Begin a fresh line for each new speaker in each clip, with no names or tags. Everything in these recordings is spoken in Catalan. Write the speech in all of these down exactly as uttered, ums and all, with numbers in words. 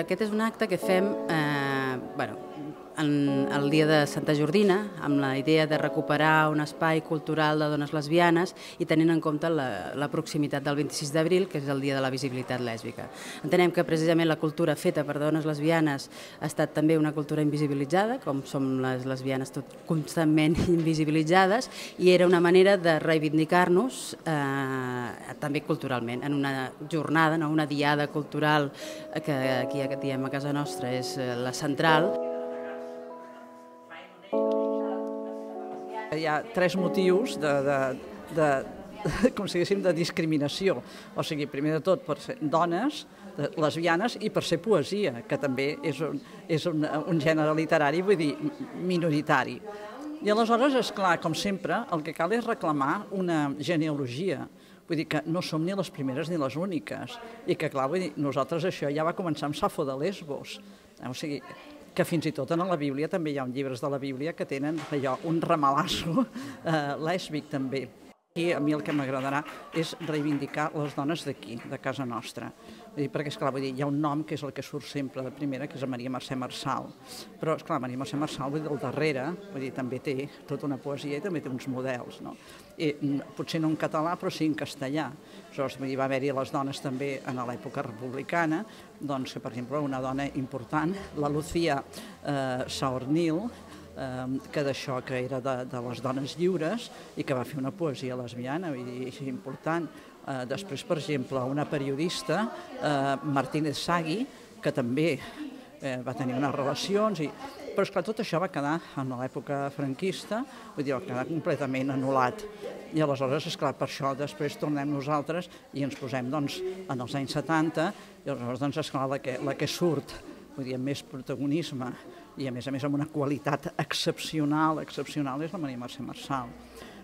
Aquest és un acte que fem eh, bueno, en el dia de Santa Jordina, amb la idea de recuperar un espai cultural de dones lesbianes i tenint en compte la, la proximitat del vint-i-sis d'abril, que és el dia de la visibilitat lèsbica. Entenem que precisament la cultura feta per dones lesbianes ha estat també una cultura invisibilitzada, com som les lesbianes tot constantment invisibilitzades, i era una manera de reivindicar-nos eh, també culturalment, en una jornada, no? Una diada cultural que aquí diem a casa nostra és la central.
Hi ha tres motius de, de, de, de, com si diguéssim, de discriminació. O sigui, primer de tot, per ser dones, lesbianes, i per ser poesia, que també és un, és un, un gènere literari, vull dir, minoritari. I aleshores, és clar, com sempre, el que cal és reclamar una genealogia. Vull dir que no som ni les primeres ni les úniques. I que, clar, vull dir, nosaltres això ja va començar amb Safo de Lesbos. O sigui, que fins i tot en la Bíblia també hi ha llibres de la Bíblia que tenen allò, un ramalasso eh, lèsbic també. I a mi el que m'agradarà és reivindicar les dones d'aquí, de casa nostra. Vull dir, perquè, esclar, vull dir, hi ha un nom que és el que surt sempre de primera, que és Maria Mercè Marçal. Però, esclar, Maria Mercè Marçal, vull dir, al darrere, vull dir, també té tota una poesia i també té uns models, no? I, potser no en català, però sí en castellà. Aleshores, vull dir, va haver-hi les dones també en l'època republicana, doncs, que, per exemple, una dona important, la Lucía eh, Saornil, que d'això que era de, de les dones lliures i que va fer una poesia lesbiana, vull dir, és important. Eh, després, per exemple, una periodista, eh, Martínez Sagui, que també eh, va tenir unes relacions, i... però esclar, tot això va quedar en l'època franquista, vull dir, va quedar completament anul·lat. I aleshores, esclar, per això després tornem nosaltres i ens posem doncs, en els anys setanta, i aleshores, doncs, esclar, la que, la que surt, vull dir, amb més protagonisme i a més a més amb una qualitat excepcional, excepcional és la Maria Mercè Marçal.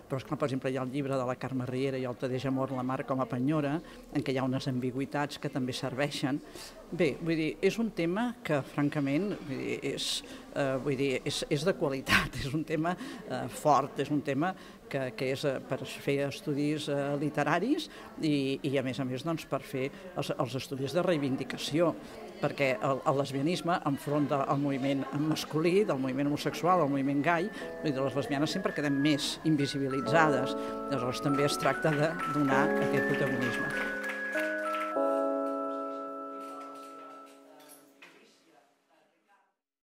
Però, esclar, per exemple, hi ha el llibre de la Carme Riera i el Tadeix Amor la Mar com a penyora, en què hi ha unes ambigüitats que també serveixen. Bé, vull dir, és un tema que, francament, vull dir, és, eh, vull dir, és, és de qualitat, és un tema eh, fort, és un tema que, que és per fer estudis eh, literaris i, i, a més a més, doncs, per fer els, els estudis de reivindicació, perquè el, el lesbianisme, enfront del moviment masculí, del moviment homosexual, del moviment gai, vull dir, les lesbianes sempre quedem més invisibilitzades. Llavors també es tracta de donar aquest protagonisme.